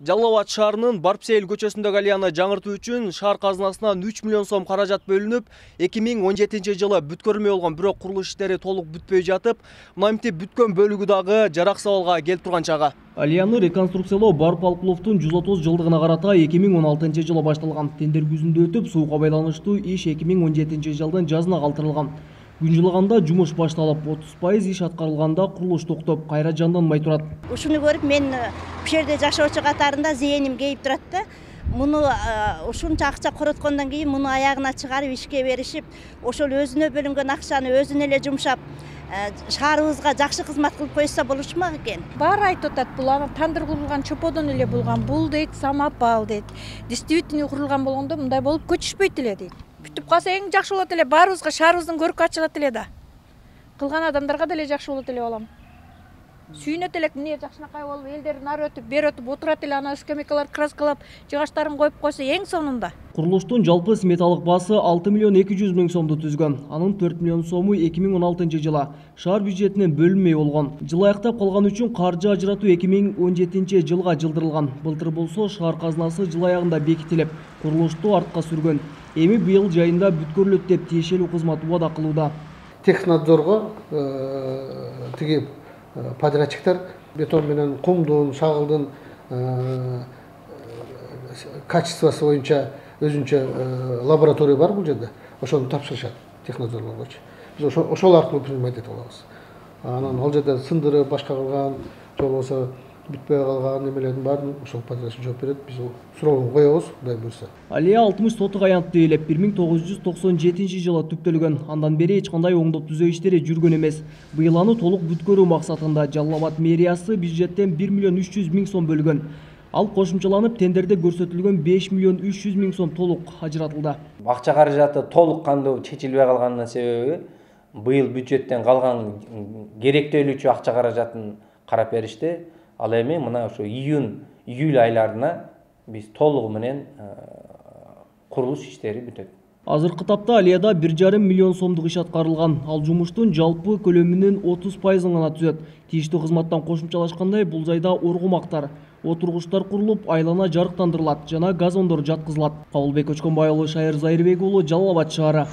Жалал Абад шаарынын Барпсейил көчөсүндөгү алыяны жаңыртуу үчүн шаар казынасынан 3 миллион сом каражат бөлүнүп, 2017 жылы бүткөрүлмөй болгон бирок курулуш иштери толук бүтпөй жатып, мынтип бүткөн бөлүгү дагы жарак сабалга келип турган чагы. Алыяны реконструкциялоо Барп Алкуловдун 130 жылдыгына карата 2016 жылы башталган. Тендер күзүндө өтүп, сууга байланыштуу иш 2017 жылдын жазына калтырылган. Күн жылыганда жумуш башталып, 30% иш аткарылганда курулуш токтоп, кайра жанданбай турат. Ушуну көрүп мен бул жерде жашоочу катарында зээним кейип турат да. Муну ушунча акча короткондон кийин муну аягына чыгарып ишке беришип, ошол өзүнө бөлүнгөн акчаны өзүнө эле жумшап, шаарыбызга жакшы кызмат кылып койсо болушмак экен. Баары айтып атат, бул анан тандыр курулган чоподон эле болгон. Бул дейт самопал дейт. Действительно курулган болгондо мындай болуп көчүшпөйт эле дейт. Бүтүп калса эң жакшы болот эле, баарыбызга шаарыбыздын көркү ачылат эле да. Кылган адамдарга деле жакшы болот эле балам. Сүйүнөт элек, эмне жакшынакай болуп, элдер нары өтүп, бери өтүп отурат эле, анан скамейкалар краскалап, жыгачтарын коюп койсо эң сонунда. Курулуштун жалпы сметалык баасы 6 миллион 200 миң сомду түзгөн. Анын 4 миллион сому 2016 жылы шаар бюджетинен бөлүнмөй болгон. Жыл аяктап калган үчүн каржы ажыратуу 2017 жылга жылдырылган. Былтыр болсо шаар казынасы жыл аягында бекитилип, курулушту артка сүргөн. Эми быйыл жайында бүткөрүлөт деп тиешелүү кызмат убада кылууда. Технадзорго тиги подрядчиктер бетон менен кумдун, шагылдын качествосы боюнча өзүнчө лаборатория бар бул жерде. Ошону тапшырышат технадзорлоргочу. Биз ошол аркылуу принимать этип алабыз. Анан ал жерде сындырып, башка кылган, же болбосо бүтпөй калган немелердин баарын ошол подрядчик жооп берет. Биз суроону коебуз, Кудай буйрса. Алия 60 сотук аянтты ээлеп 1997 жылы түптөлгөн. Андан бери эч кандай оңдоп түзөө иштери жүргөн эмес. Быйыл аны толук бүткөрүү максатында Жалал Абад мэриясы бюджеттен 1 миллион 300 миң сом бөлгөн. Ал кошумчаланып тендерде көрсөтүлгөн 5 миллион 300 миң сом толук ажыратылды. Акча каражаты толук кандуу чечилбей калганынын себеби быйыл бюджеттен калган керектөлүүчү акча каражатын карап беришти. Ал эми мына ошо июль айларына биз толугу менен курулуш иштери бүтөт. Азыркы тапта Алияда 1,5 миллион сомдук иш аткарылган. Ал жумуштун жалпы көлөмүнүн 30%-ын гана түзөт. Тийиштүү кызматтан кошумчалашкандай бул жайда оргумактар, отургучтар курулуп, айлана жарыктандырылат жана газондор жаткызылат. Кабылбек Көчкөнбай уулу, Шайыр Зайырбек уулу, Жалал Абад шаары.